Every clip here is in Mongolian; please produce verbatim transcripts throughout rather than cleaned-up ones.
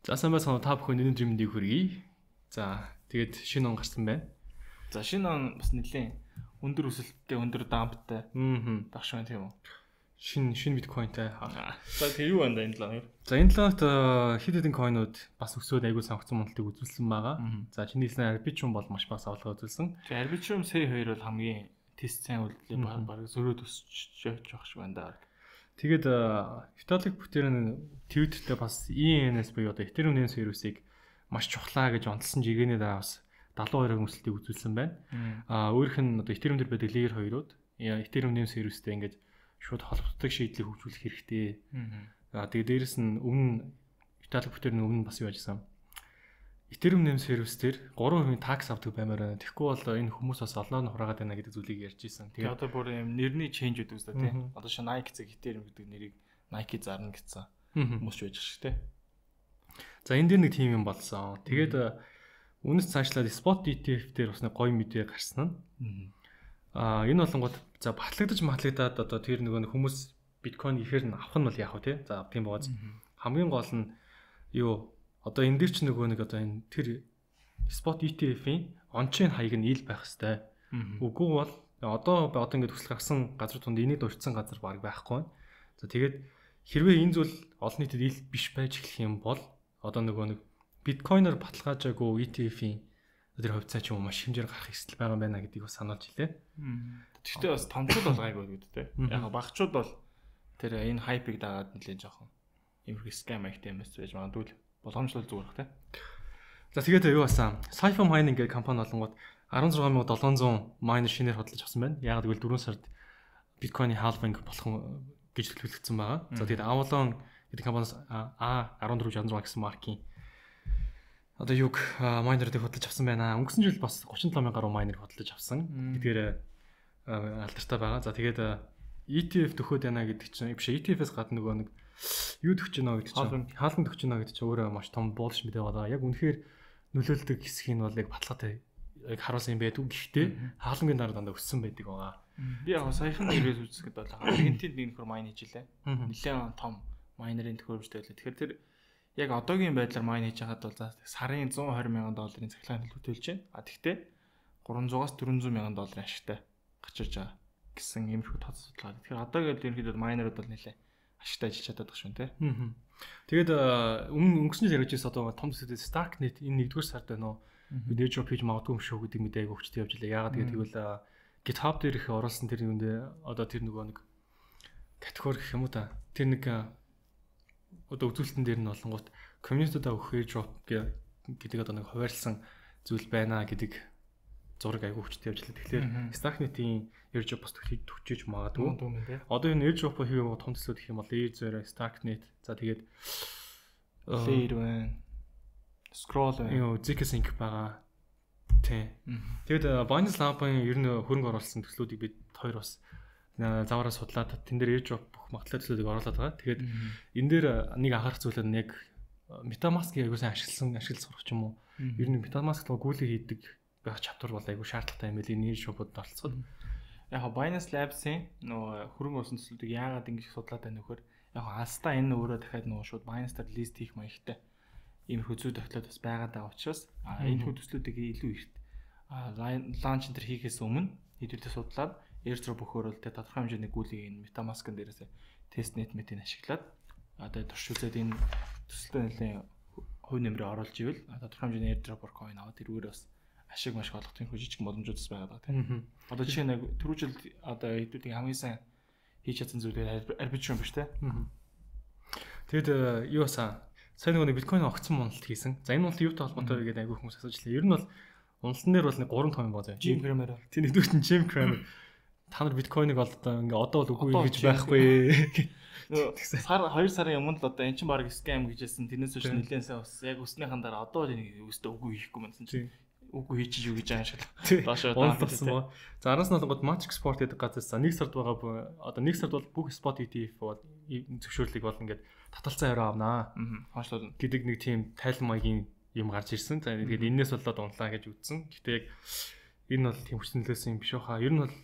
За сайн байцгаана та бүхэн өнөөдрийн мэндийг хүргэе. За тэгээд шинэ он гарсан байна. За шинэ он бас нэлээд өндөр өсөлттэй, өндөр дамптай. Аа. Багш байна тийм үү? Шинэ шинэ биткойнтай. За тэр юу байна энэ талаар? За энэ талаар хэд хэдэн койнууд бас өсөөд аягүй сонгогдсон мөнгөлтийг үзүүлсэн байгаа. За чиний хэлсэн Arbitrum бол маш бага савлага үзүүлсэн. Тэгээ Arbitrum сая хоёр бол хамгийн тест сайн үйлдэлээ баг зөрөөд өсөж явах шиг байна да. Тэгээд Vitalik Buterin Twitter-тэй бас и эн эс буюу одоо Ethereum нэмс вирусыг маш чухлаа гэж онцлсан жигэний дараа бас дагалуу хоёрын өсөлтийг үзүүлсэн байна. Аа өөрийнх нь одоо Ethereum дээр байдаг layer хоёрууд Ethereum нэмс вирустэй ингээд шууд холбогддог шийдлийг хөгжүүлэх хэрэгтэй. Аа тэгээд дээрэс нь өмнө Vitalik Buterin өмнө бас юу ажилласан. Ethereum нэмс вирус дээр гурван хувийн такс авдаг баймаар байна. Тэгэхгүй бол энэ хүмүүс бас олноор нь хураагаад байна гэдэг зүйлийг ярьж ирсэн. Тэгээд одоо бүр юм нэрний change үүд үстэй тий. Одоо шин Nike зэрэг Ethereum гэдэг нэрийг Nike зарна гэсэн хүмүүс ч байж шиг тий. За энэ дээр нэг тим юм болсон. Тэгээд үнэс цаашлаад spot и ти эф дээр бас нэг гоё мэдээ гарсан нь. Аа энэ болонгууд за батлагдаж матлагдаад одоо тэр нөгөө хүмүүс биткойн ихээр нь авах нь бол яах вэ тий. За тийм бооз. Хамгийн гол нь юу одоо энэ дээр ч нөгөө нэг одоо энэ тэр spot и ти эф-ийн on-chain хаяг нь ил байх хэвээр. Үгүй бол одоо одоо ингээд төсөл гарсан газар тунд энийг дурдсан газар баг байхгүй. За тэгээд хэрвээ энэ зүйл олон нийтэд ил биш байж эхлэх юм бол одоо нөгөө нэг биткойноор баталгаажаагүй и ти эф-ийн тэр хувьцаа ч юм уу маш хэмжээр гарах хэсэл байгаа байна гэдгийг бас сануулж илээ. Гэхдээ бас томчууд бол гайгүй гэдэг те. Яг багчууд бол тэр энэ хайпыг дагаад нэлээд жоохон иймэрхүү scam activity байж магадгүй боломжтой зүгээр бах те. За тэгээд юу басан? Cypher Mining гэх компани болонгууд арван зургаан мянган долоон зуун майнер шинээр хөдөлж авсан байна. Яг гэвэл дөрвөн сард биткойны halving болох гэж төлөвлөгдсөн байгаа. За тэгээд Avalon гэдэг компаниас А арван дөрөв шалан зураг гэсэн маркийн одоо юг майнерыг хөдөлж авсан байна. Өнгөрсөн жил бас гурван долоо мянган гаруй майнер хөдөлж авсан. Гэдгээр алдартай байгаа. За тэгээд и ти эф төхөөд байна гэдэг чинь биш и ти эф-ээс гадна нөгөө нэг юу төгч гэнэ гэдэг чинь хаалган төгч гэнэ гэдэг чинь өөрөө маш том буулш мэдээ байгаа. Яг үнэхээр нөлөөлдөг хэсэг нь бол яг баталгаатай яг харуулсан юм байдаг. Гэхдээ хаалгангийн дараа дандаа өссөн байдаг байгаа. Би яг саяхан нэрээс үзсэхэд бол Аргентинд нэг нөхөр майн хийж илээ. Нэлээд том майнерын төхөөрөмжтэй байлаа. Тэгэхээр тэр яг одоогийн байдлаар майн хийж байгаад бол сарын зуун хорь мянган долларын цахилгаан төлөвлөж байна. А тэгтээ гурван зуунаас дөрвөн зуун мянган долларын ашигтай гачирж байгаа гэсэн иймэрхүү тод судалгаа. Тэгэхээр одоогийн ерөнхийдөө майнерууд бол нэлээд ашигтай ажиллаж чаддаг шүү нэ. Тэгээд өмнө өнгөрсөн жил ярьж байсан одоо том төсөлд Starknet энэ нэгдүгээр сард байна уу? Video page магадгүй юм шүү гэдэг мэдээ айгу хүчтэй явж илаа. Яагаад гэвэл GitHub дээр их оруулсан тэр юундэ одоо тэр нөгөө нэг категори гэх юм уу та. Тэр нэг одоо үзүүлэлтэн дээр нь болонгууд community-даа өгөх airdrop гэдэг одоо нэг хуваарлсан зүйл байна гэдэг зураг айгу хүчтэй явж илаа. Тэгэхээр Starknet-ийн airdrop бас төгчөж магадгүй. Одоо энэ airdrop хийх юм том төслүүд гэх юм бол Layer зөөр Starknet за тэгээд Layer байна. Scroll байна. Юу zkSync байгаа. Тий. Тэгээд Binance Lab-ын ер нь хөрөнгө оруулсан төслүүдийг бид хоёр бас заваараа судлаад тэн дээр airdrop бүх магадлал төслүүдийг оруулаад байгаа. Тэгээд энэ дээр нэг анхаарах зүйл нь яг MetaMask-ийг аягүй сайн ашигласан ашиглаж сурах ч юм уу. Ер нь MetaMask руу гүйлээ хийдэг байх чаптар бол айгүй шаардлагатай юм билий нэр шопод оролцоход. Яг Binance Labs-ийн нөгөө хөрөнгө оруулсан төслүүдийг яагаад ингэж судлаад байна нөхөр яг Asta энэ өөрөө дахиад нөгөө шууд Binance-аар лист хийх маягтай иймэрхүү зүй тогтлоод бас байгаа даа учраас энэ хүү төслүүдийг илүү ихт лаунч энэ хийхээс өмнө хэдүүлээ судлаад airdrop өгөхөөр л тэ тодорхой хэмжээний гүйлийг энэ MetaMask-ын дээрээс testnet метийн ашиглаад одоо туршуулаад энэ төсөлтөө нэлээд хувь нэмрээ оруулж ивэл тодорхой хэмжээний airdrop coin аваад тэрүүгээр бас ашиг маш олох тийм жижиг боломжууд бас байгаа тийм. Одоо жишээ нь түрүүжил одоо хэдүүдийн хамгийн сайн хийж чадсан зүйлээр Arbitrum биш тийм. Тэгэд юу басан сайн нэг биткойн огцсон уналт хийсэн. За энэ уналт юутай холбоотой гэдэг айгүй хүмүүс асууж лээ. Ер нь бол уналтан дээр бол нэг гурван том юм баа заа. Jim Cramer. Тийм нэгдүгээр нь Jim Cramer. Та нар биткойныг бол одоо ингээ одоо бол үгүй гэж байхгүй. Сар хоёр сарын өмнө л одоо эн чинь баг scam гэжсэн. Тэрнээс биш нэлээд сайн ус. Яг өснийхэн дараа одоо л энийг өстө үгүй хийхгүй мэнсэн чинь. Үгүй хийж юу гэж байгаа шиг. Доошоо даасан ба. За араас нь бол Matrix Sport гэдэг газраас за нэг сард байгаа одоо нэг сард бол бүх Spot и ти эф бол зөвшөөрлийг бол ингээд таталцсан өрөө авнаа. Хаашлууд гэдэг нэг тийм тайлан маягийн юм гарч ирсэн. За тэгээд энэс болоод унлаа гэж үзсэн. Гэтэ яг энэ бол тийм хүчнэлээс юм биш баха. Ер нь бол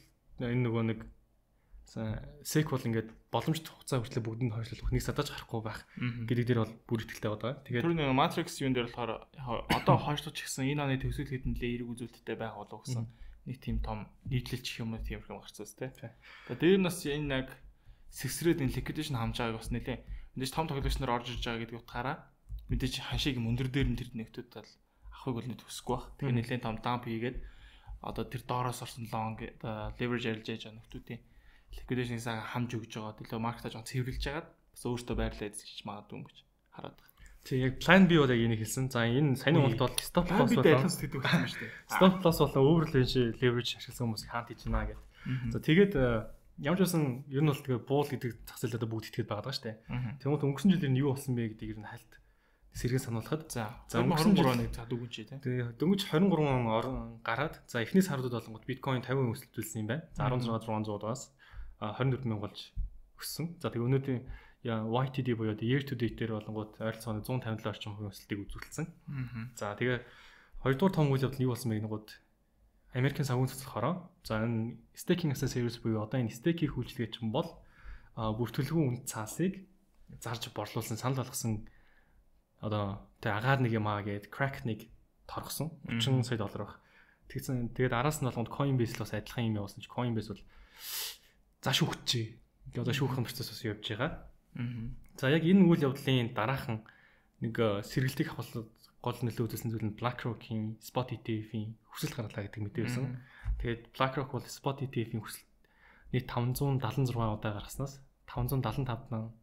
энэ нөгөө нэг сек бол ингээд боломжтой хугацаа хүртэл бүгдэнд хойшлуулах нэг садаж гарахгүй байх гэдэг дээр бол бүр ихтэй байгаа. Тэгээд тэр нэг Matrix юун дээр болохоор одоо хойшлууч гэсэн энэ оны төвсгөл хэдэн лээ эерэг үзүүлэлттэй байх болов гэсэн нэг тийм том нийтлэлч гэх юм уу тийм юм гарцсан тий. Тэгээд дээр нас энэ яг сэгсрээд энэ liquidation хамж байгааг бас нэлээ мэдээж том тоглогч нар орж ирж байгаа гэдэг утгаараа мэдээж хашиг юм өндөр дээр нь тэр нэгтүүд тал авахыг бол нэг төсөхгүй баг. Тэгэхээр нэлээд том дамп хийгээд одоо тэр доороос орсон long leverage арилж яаж байгаа нөхдүүдийн liquidation-ийг хамж өгж байгаа. Төлөө маркетаж жоо цэвэрлж хагаад бас өөртөө байрлал эзэлж магадгүй юм гэж хараад байна. Тэг яг plan B бол яг энийг хэлсэн. За энэ саяны унт бол stop loss болоо. Stop loss болоо overleverage leverage ашигласан хүмүүс хаант хийж байна гэдэг. За тэгээд ямар ч байсан ер нь бол тэгээ буул гэдэг зах зээл одоо бүгд итгэдэг байгаа шүү дээ. Тэгмээд өнгөрсөн жилээр нь юу болсон бэ гэдгийг ер нь хальт сэргэн сануулхад за өнгөрсөн жил нэг цаа дүгүнч тий. Тэгээ дөнгөж двадцать три орон гараад за эхний саруудад болонгод биткойн фifty өсөлтүүлсэн юм байна. За sixteen thousand one hundred-аас twenty-four thousand болж өссөн. За тэгээ өнөөдрийн Y T D буюу year to date дээр болонгод ойролцоогоор one fifty орчим хувийн өсөлтийг үзүүлсэн. За тэгээ хоёрдугаар том үйл явдал нь юу болсон бэ гэнэгүүд Америкийн санхүү цэцлэхороо за энэ staking as a service буюу одоо энэ staking үйлчилгээ чинь бол бүртгэлгүй үнд цаасыг зарж борлуулсан санал болгосон одоо тэг агаар нэг юм аа гээд crack нэг торгосон thirty сая доллар баг. Тэгсэн тэгээд араас нь болгонд Coinbase л бас адилхан юм явуулсан чи Coinbase бол за шүүхчээ. Ингээ одоо шүүхэн процесс бас явж байгаа. За яг энэ үйл явдлын дараахан нэг сэргэлтийг авах гол нөлөө үзүүлсэн зүйл нь BlackRock-ийн Spot E T F-ийн хүсэлт гаргалаа гэдэг мэдээ байсан. Тэгээд BlackRock бол Spot E T F-ийн хүсэлт нийт five seventy-six удаа гаргаснаас five seventy-five нан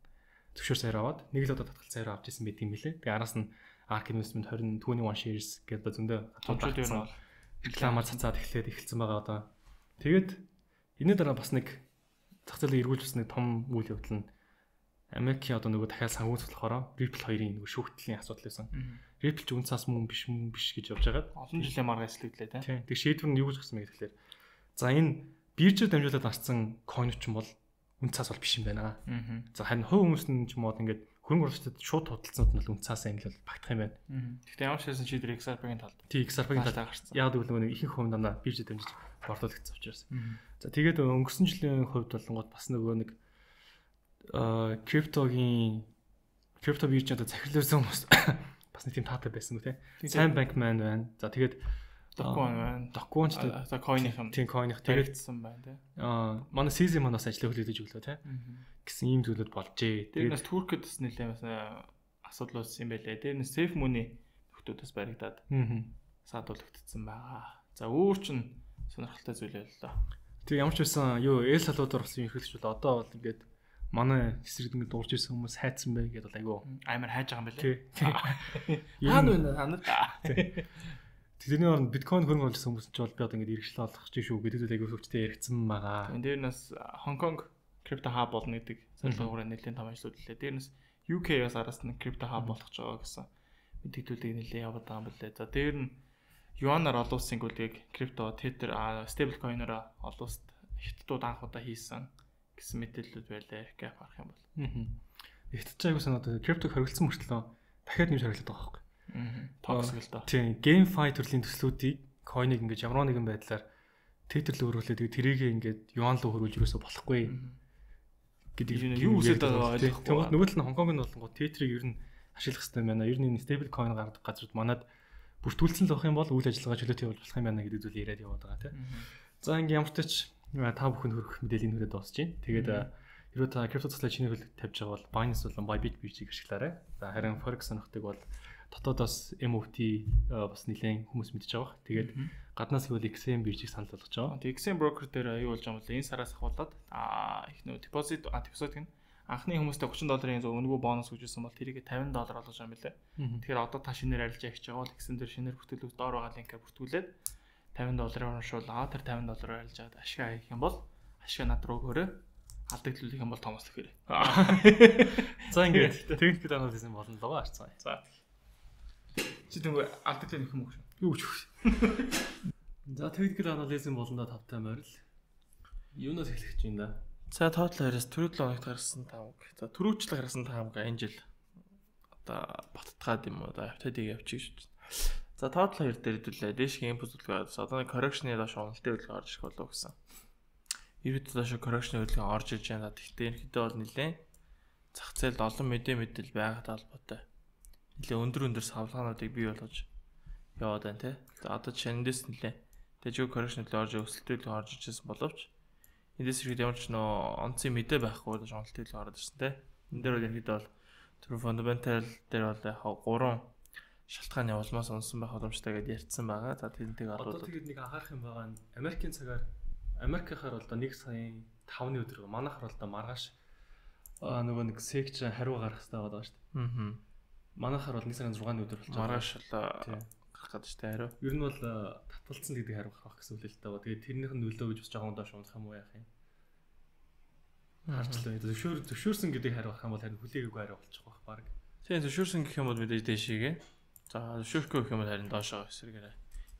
зөвшөөр саяар аваад нэг л удаа татгалт саяар авч ирсэн байт юм билээ. Тэгээ араас нь Ark Investment twenty-one shares гэдэг зөндөө томчууд юу нь рекламаар цацаад эхлээд эхэлсэн байгаа одоо. Тэгээд энэ дараа бас нэг зах зээлийг эргүүлж бас нэг том үйл явдал нь Америкийн одоо нөгөө дахиад санхүү цэцлэхороо Ripple хоёрын нөгөө шүүхтлийн асуудал байсан. Ripple ч үнцаас мөн биш мөн биш гэж явж байгаад олон жилийн маргаа эслэгдлээ тийм. Тэг шийдвэр нь юу гэж гарсан бэ гэхээр за энэ биржээр дамжуулаад гарсан coin ч юм бол үнцаас бол биш юм байна. За харин хувь хүмүүс нь ч юм уу ингээд хөрөнгө оруулагчдад шууд худалдсанууд нь бол үнцаас энэ л багтах юм байна. Гэхдээ ямар ч хэсэн шийдвэр X R P-ийн талд. Тийм X R P-ийн талд гарсан. Яг гэвэл нөгөө ихэнх хувь дандаа биржээр дамжиж борлуулагдсан учраас. За тэгээд өнгөрсөн жилийн хувьд болонгод бас нөгөө нэг а криптогийн крипто биржийн одоо захирлуулсан хүмүүс бас нэг тийм таатай байсан үү те. Сайн Bankman байна. За тэгээд Dogecoin байна. Dogecoin ч за coin-ийн тийм coin-ийн хэрэгжсэн байна те. Аа манай C Z манаас ажлыг хүлээж өглөө те. Гэсэн ийм зүйлүүд болжээ. Тэрнээс Туркэд бас нэлээд асуудал болсон юм байлээ. Тэрнээс Safe Money нөхдөөс баригдаад саадуулагдсан байгаа. За өөр чин сонирхолтой зүйл байлаа. Тэг ямар ч байсан юу El Salvador болсон юм хэрэглэж бол одоо бол ингээд манай хэсрэг ингээд дуурж ирсэн хүмүүс хайцсан бай гэдээ бол айгүй аймаар хайж байгаа юм байлээ. Хаана вэ ханаа? Тэрний оронд биткойн хөрөнгө оруулсан хүмүүс ч бол би одоо ингээд иргэжлээ олох гэж шүү гэдэг зүйл айгүй хөвчтэй яригдсан байгаа. Энд дээрнээс Хонконг крипто хаб болно гэдэг саналгаараа нэлээд том ажлууд лээ. Дээрнээс U K-аас араас нь крипто хаб болох ч байгаа гэсэн мэдээлэлийг нэлээд яваад байгаа юм билээ. За дээр нь юанаар олон улсын гүлийг крипто, Tether, стейбл койноор олон улсад хятадууд анх удаа хийсэн гэсэн мэдээлэлүүд байлаа. Гап харах юм бол. Аа. Хятадч аягүй санаад криптог хоригдсан мөртлөө дахиад нэмж хариулдаг байгаа байхгүй. Аа. Токсик л доо. Тийм, GameFi төрлийн төслүүдийг койныг ингэж ямар нэгэн байдлаар Tether рүү хөрвүүлээд тэрийг ингэж юан руу хөрвүүлж юусоо болохгүй гэдэг юу үсээд байгаа ойлгохгүй. Нөгөө тал нь Хонконг нь болонгоо Tether-ийг ер нь ашиглах хэрэгтэй байна. Ер нь stable coin гаргадаг газрууд манад бүртгүүлсэн л байх юм бол үйл ажиллагаа чөлөөтэй болох юм байна гэдэг зүйл яриад яваад байгаа тийм. За ингээм ямар ч тач та бүхэнд хүрэх мэдээллийн нүрээ дуусч байна. Тэгээд хэрвээ та крипто цэцлэг чиний хөл тавьж байгаа бол Binance болон Bybit биржийг ашиглаарай. За харин Forex сонирхдаг бол дотоодоос M O T бас нэлээд хүмүүс мэдж байгаа. Тэгээд гаднаас гэвэл X M биржийг санал болгож байгаа. Тэгээд X M broker дээр юу болж байгаа юм бэ? Энэ сараас ахуулаад аа их нөө deposit а deposit гэн анхны хүмүүстээ thirty долларын зөв өнгөө бонус өгчсэн бол тэрийг fifty доллар олгож байгаа юм лээ. Тэгэхээр одоо та шинээр арилж явж байгаа бол X M дээр шинээр бүртгүүлэх доор байгаа линкээр бүртгүүлээд fifty долларын уушвал аа тэр fifty доллараар арилж аваад ашиг хийх юм бол ашиг над руу өгөөрэй. Алдагдлуулах юм бол томослох хэрэг. За ингээд техникэл анализм болно л байгаа харцгаа. За. Чи тэгвэл алдагдлын их юм уу? Юу ч вэ? За техникэл анализм болно да тавтай морил. Юунаас эхлэх гэж байна да? За total хараас түрүү seven хоногт гарсан five. За түрүүчлэг гарсан five га энэ жил одоо баттгаад юм уу да автодыг явчих шүү. За total хоёр дээр хэдүүлээ. Дэшгийн input төлөвлөгөөс одоо нэг correction-ы доош уналтын төлөвлөгөө орж ирэх болов гэсэн Ерөөд доош correction хөдөлгөөн орж иж байгаа. Тэгтээ ерөөдөө бол нэлээ зах зээлд олон мэдээ мэдэл байгаад албатай. Нэлээ өндөр өндөр савлгаануудыг бий болгож яваад байна те. За одоо жишээ нь эндээс нэлээ тэжүү correction хөдөлгөөн орж өсөлтөд орж ижсэн боловч эндээс ерөөд ямар ч нөө онцгой мэдээ байхгүй болж онцлог хөдөлгөөн ороод ирсэн те. Энд дээр бол ерөөдөө бол тэр fundamental дээр бол яг гурван шалтгааны улмаас унсан байх боломжтой гэдээ ярьсан байгаа. За тэрнтэйг одоо тэгээд нэг анхаарах юм байгаа нь Америкийн цагаар Америкийнхаар бол нэг саяын тавны өдөр манайхаар бол маргааш нөгөө нэг секч хариу гаргах хэрэгтэй байгаа шүү дээ. Аа. Манайхаар бол нэг сарын зургааны өдөр болж байгаа. Маргааш л гарах гэдэг шүү дээ хариу. Ер нь бол татгалцсан гэдэг хариу гаргах гэсэн үг л таа. Тэгээд тэрнийх нь нөлөө гэж бас жоохон доош унах юм уу яах юм. Харчлаа. Зөвшөөр зөвшөөрсөн гэдэг хариу гарах юм бол харин хүлээгээгүй хариу болчих واخ баг. Тийм зөвшөөрсөн гэх юм бол мэдээж дэшигээ. За зөвшөөрөхгүй гэх юм бол харин доошоо эсрэгээрээ.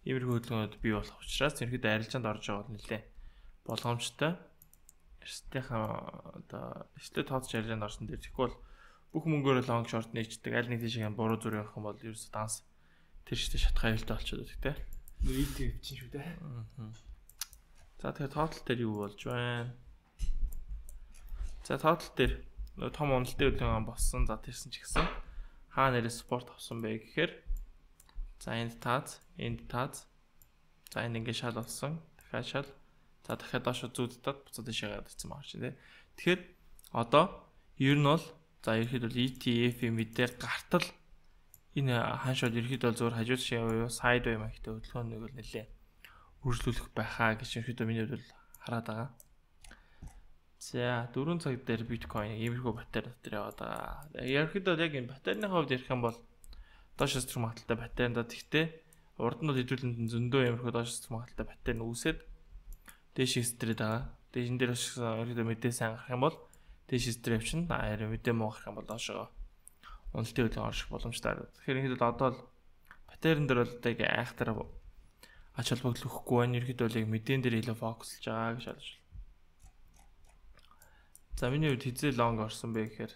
Иймэрхүү хөдөлгөөнүүд бий болох учраас тэрхэд арилжаанд орж байгаа бол нэлээ болгоомжтой. Эрсдийнхаа одоо эрсдээ тооцож арилжаанд орсон дээр тэгэхгүй бол бүх мөнгөөр long short нээчдэг аль нэг тийшээ буруу зүрх явах юм бол ерөөсө данс тэр шигтэй шатхаа аюултай болчиход байдаг те. И ти эф чинь шүү дээ. Аа. За тэгэхээр total дээр юу болж байна? За total дээр нөгөө том уналтын хөдөлгөөн болсон. За тэрсэн ч гэсэн хаа нэрээ спорт авсан бэ гэхээр за энд таац, энд таац. За энд ингэ шал болсон. Дахиад шал. За дахиад доош зүүддээд буцаад ишээгээд ирсэн байгаа чинь тий. Тэгэхээр одоо ер нь бол за ерхэд бол и ти эф-ийн мэдээ гартал энэ хаашаа ерхэд бол зөвхөн хажууд шиг яваа сайд бай маягтай хөдөлгөөнийг бол нэлээ үргэлжлүүлэх байхаа гэж ерхэд миний хувьд бол хараад байгаа. За дөрвөн цаг дээр биткойн иймэрхүү батарей дотор яваад байгаа. Ерхэд бол яг энэ батарейны хувьд ярих юм бол доош струм магталтай батарейнда тэгтээ урд нь бол хэдүүлэнд зөндөө иймэрхүү доош струм магталтай батарей нь үүсээд дээш стрээд байгаа. Дээш энэ дээр бас ерхэд мэдээ сайн гарах юм бол дээш стреп чинь аяар мэдээ муу гарах юм бол доошоо уналтын хөдөлгөөн орших боломжтой. Тэгэхээр ингээд бол одоо л батарейн дээр бол яг айхтар ач холбогдол өгөхгүй байна. Ерхэд бол яг мэдэн дээр илүү фокуслж байгаа гэж бодож байна. За миний хувьд хизээ лонг орсон бэ гэхээр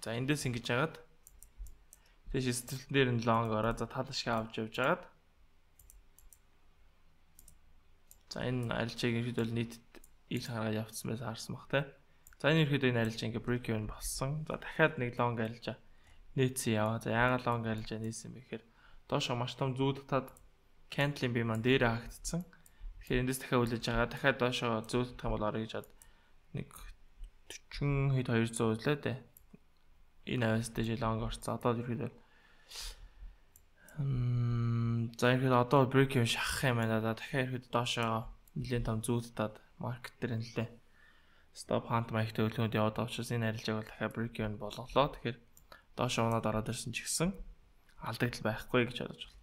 за эндээс ингэж яагаад дээш стрэлтэн дээр нь лонг ороо за тал шиг авч явж агаад за энэ арилжааг ерхэд бол нийт ил хараад явцсан байсан харсан бах те. За энэ ерхэд энэ арилжаа ингээ break even болсон. За дахиад нэг long арилжаа нээсэн яваа. За яагаад long арилжаа нээсэн бэ гэхээр доошо маш том зүүд татаад candle-ийн бие маань дээр хаагдсан. Тэгэхээр эндээс дахиад үлээж байгаа. Дахиад доошо зүүд татах юм бол орё гэж бод нэг forty хэд two hundred үлээ дээ. Энэ авьяастай жил long орцсон. Одоо ерхэд м за ерхэд одоо break even шахах юм байна. За дахиад ерхэд доошо нэлээд том зүүд татаад market дээр нэлээ stop hunt маягтай хөдөлгөөнд яваад байгаа учраас энэ арилжааг бол дахиад break even болголоо. Тэгэхээр доош унаад ороод ирсэн ч гэсэн алдагдал байхгүй гэж бодож байна.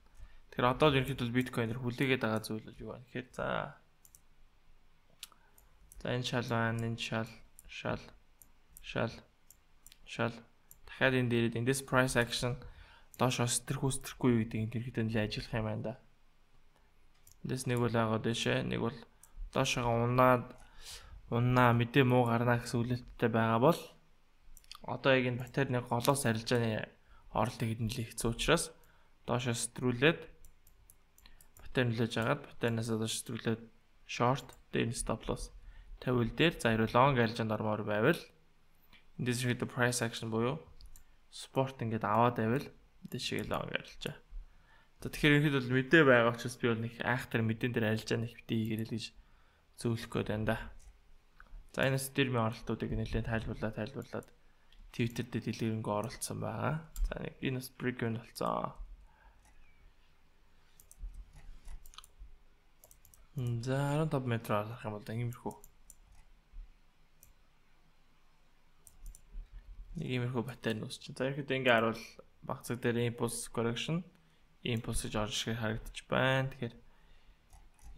Тэгэхээр одоо ерөнхийдөө биткойнер хүлээгээд байгаа зүйл бол юу вэ гэхээр за за энэ шал байна, энэ шал, шал, шал, шал. Дахиад энэ дээрээ эндээс price action доош өстерхүү өстерхгүй юу гэдэг энэ ерөнхийдөө нэлээд ажиллах юм байна да. Эндээс нэг бол агаад дэшээ, нэг бол доошоо унаад унаа мэдээ муу гарна гэсэн үлээлттэй байгаа бол одоо яг энэ батарейны голоос арилжааны оролтыг хэдэнлээ хэцүү учраас доошоо стрүүлээд батарей нөлөөж агаад батарейнаас доош стрүүлээд short дээр stop loss тавил дээр за хэрвээ long арилжаанд ормоор байвал эндээс ихэд price action буюу спорт ингээд аваад байвал эндээс шиг long арилжаа. За тэгэхээр ихэд бол мэдээ байгаа учраас би бол нэг айхтар мэдэн дээр арилжаа нэг битээ хийгэрэл гэж зөвлөх гээд байна да. За энэ стримийн оролтуудыг нэлээд тайлбарлаад тайлбарлаад Twitter дээр дэлгэрэнгүй оролцсон байгаа. За нэг энэ бас break even болсон. За арван таван метр арах юм бол иймэрхүү. Нэг иймэрхүү батарей нөөс чинь. За ихэд ингээ харуул баг цаг дээр impulse correction, impulse гэж орж ирэх харагдаж байна. Тэгэхээр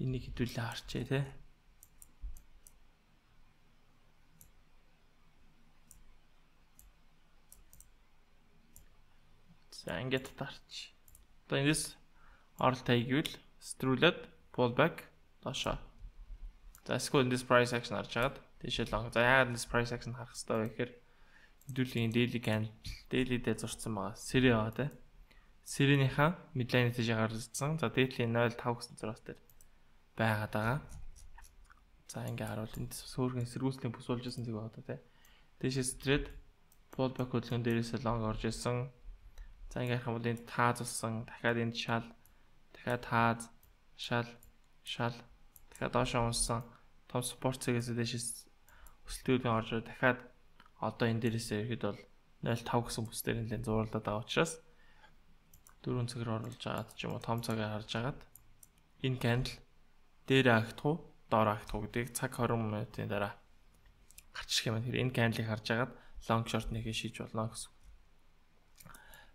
энийг хэдүүлээ харчээ те. За ингээд татарч. Одоо эндээс оролт хийгвэл стрүүлээд pullback доошоо. За эсвэл эндээс price action харж агаад тийшээ long. За яагаад эндээс price action харах хэрэгтэй вэ гэхээр хэдүүлийн daily candle daily дээр зурцсан байгаа. Сэрэ байгаа те. Сэрэнийхаа midline тийшээ гарсан. За daily ноль five гэсэн зураас дээр байгаад байгаа. За ингээ харуул энд сөөргэн эсэргүүцлийн бүс болж исэн зүг байна одоо тий. Дээшээс thread pullback хөдөлгөөн дээрээс long орж исэн. За ингээ харах юм бол энд тааз болсон. Дахиад энд шал, дахиад тааз, шал, шал, дахиад доош унсан. Том support цэгээс дээшээс өсөлтүүдийн орж дахиад одоо энэ дээрээс ирэхэд бол нуль тавь гэсэн бүс дээр нэлээд зууралдаад байгаа учраас дөрөв цагаар оруулж агаад ч юм уу том цагаар харж агаад энэ candle дээр агтах уу доор агтах уу гэдгийг цаг двадцать минутын дараа гарчих юм. Тэгэхээр энэ candle-ыг харж агаад long short нэгэ шийдж болно гэсэн.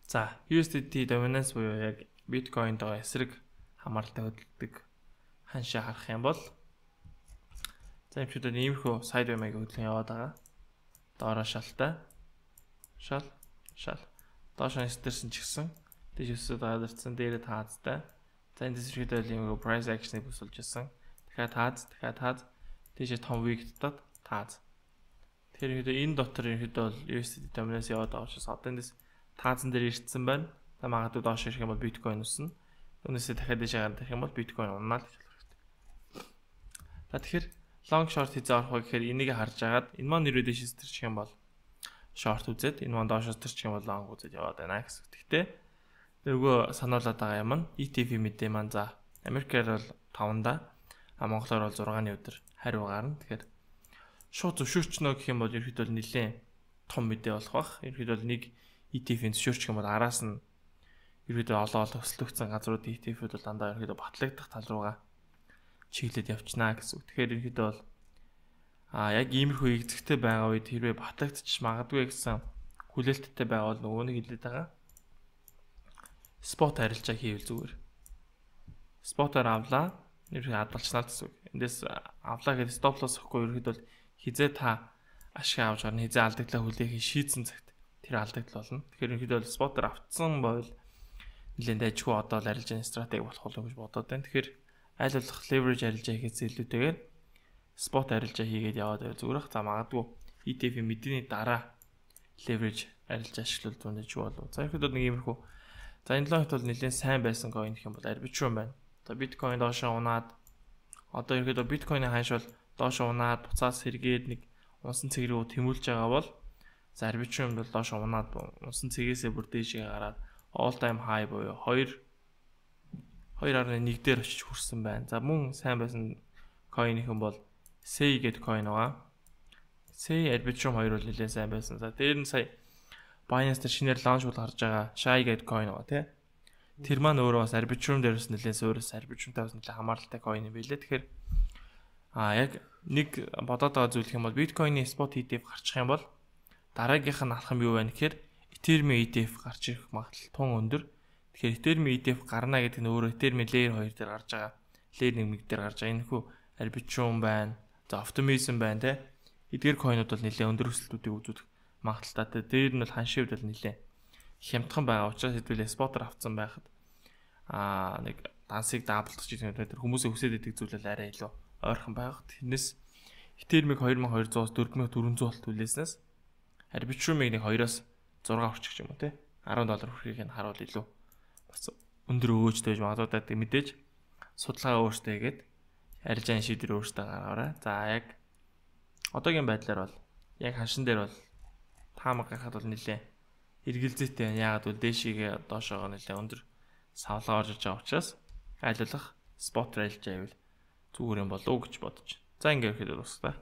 За ю эс ди ти dominance буюу яг биткойнд байгаа эсрэг хамааралтай хөдөлдөг ханшаа харах юм бол за энэ чудад иймэрхүү sideways маягийн хөдөлгөөн яваад байгаа. Доороо шалтай шал шал доош нэрсэн ч гэсэн дэж өсөд гадарсан дээрээ таазтай. За энэ дэсрэхэд бол юм price action-ыг бүсэлж ирсэн. Дахиад тааз, дахиад тааз, дээшээ том week татаад тааз. Тэгэхээр энэ дотор ерөөдөө бол ю эс ди ти dominance яваад байгаа учраас одоо эндээс таазан дээр ирсэн байна. За магадгүй доош ирэх юм бол биткойн өснө. Үүнээсээ дахиад дээшээ гарах юм бол биткойн уннаа л гэж болох хэрэгтэй. За тэгэхээр long short хизээ орох вэ гэхээр энийг харж агаад энэ маань ерөөдөө дээшээс төрчих юм бол short үзээд энэ маань доошоос төрчих юм бол long үзээд яваад байна гэсэн. Гэхдээ нөгөө сануулад байгаа юм нь и ти эф мэдээ маань за Америкаар бол таванда а Монголоор бол зургааны өдөр хариу гарна. Тэгэхээр шууд зөвшөөрчнө гэх юм бол ерөөдөө нэлээд том мэдээ болох бах. Ерөөдөө нэг и ти эф-ийн зөвшөөрчих юм бол араас нь ерөөдөө олон олон өсөлтөгцөн газрууд и ти эф-үүд бол дандаа ерөөдөө батлагдах тал руугаа чиглээд явчихнаа гэсэн. Тэгэхээр ерөөдөө бол а яг иймэрхүү игзэгтэй байгаа үед хэрвээ батлагдчих магадгүй гэсэн хүлээлттэй байгаа бол нөгөө нэг хэлээд байгаа. Спот харилцаа хийвэл зүгээр. Спотоор авлаа. Ерхий хадгалчнаа гэсэн үг. Эндээс авлаа гэдэг стоп лосс өгөхгүй ерхэд бол хизээ та ашиг авч гарна хизээ алдагдлаа хүлээхийг шийдсэн цагт тэр алдагдал болно. Тэгэхээр ерхэд бол спотоор автсан байвал нэлээд ажгүй одоо л арилжааны стратеги болох уу гэж бодоод байна. Тэгэхээр аль болох leverage арилжаа хийхээс илүүтэйгээр спот арилжаа хийгээд яваад байвал зүгээр ах. За магадгүй и ти эф-ийн мэдээний дараа leverage арилжаа ашиглуулж байна гэж болов. За ерхэд бол нэг иймэрхүү. За энэ логт бол нэлээд сайн байсан coin гэх юм бол Arbitrum байна. За биткойн доошоо унаад одоо ерөөдөө биткойны ханш бол доошоо унаад буцаас сэргээд нэг унсан цэг рүү тэмүүлж байгаа бол за Arbitrum бол доошоо унаад унсан цэгээсээ бүр дээшээ гараад all time high буюу two two гаруй one дээр очиж хүрсэн байна. За мөн сайн байсан coin-ийнхэн бол S E I гэдэг coin байгаа. S E I Arbitrum two бол нэлээд сайн байсан. За дээр нь сая Binance дээр шинээр launch бол гарч байгаа Shy гэдэг coin байгаа тий. Тэр маань өөрөө бас Arbitrum дээрээс нэлээд өөрөөс Arbitrum-тай бас нэлээд хамааралтай coin юм билээ. Тэгэхээр а яг нэг бодоод байгаа зүйл юм бол Bitcoin-ийн spot и ти эф гарчих юм бол дараагийнх нь алах юм юу вэ гэхээр Ethereum-ийн и ти эф гарч ирэх магадлал тун өндөр. Тэгэхээр Ethereum-ийн и ти эф гарна гэдэг нь өөрөө Ethereum-ийн layer two дээр гарч байгаа. Layer one дээр гарч байгаа. Энэ хүү Arbitrum байна. За Optimism байна тий. Эдгээр coin-ууд бол нэлээд өндөр өсөлтүүдийг үзүүлэх магадaltaй. Дээр нь бол ханшивд бол нэлээ хямдхан байгаа учраас хэдүүлээ спотор авцсан байхад аа нэг дансыг даблдах гэж тэр хүмүүсээ хүсээд идэг зүйл бол арай илүү ойрхон байх. Тэрнээс Ethereum-ыг two thousand two hundred-аас four thousand four hundred болт хүлээснээс Arbitrum-ыг нэг two-оос six орчих ч юм уу тий. ten доллар хүрхийг нь харуул илүү бас өндөр өөжтэй байж магадгүй мэдээж судалгаа өөртөө хийгээд арилжааны шийдвэр өөртөө гаргаарай. За яг одоогийн байдлаар бол яг ханшин дээр бол таамаг гахад бол нэлээ эргэлзээтэй байна. Яагаад бол дээшигээ доошоогоо нэлээ өндөр савлгаа орж байгаа учраас айлуулах спот арилжаа байвал зүгээр юм болов уу гэж бодож. За ингээд ихэд дуусна.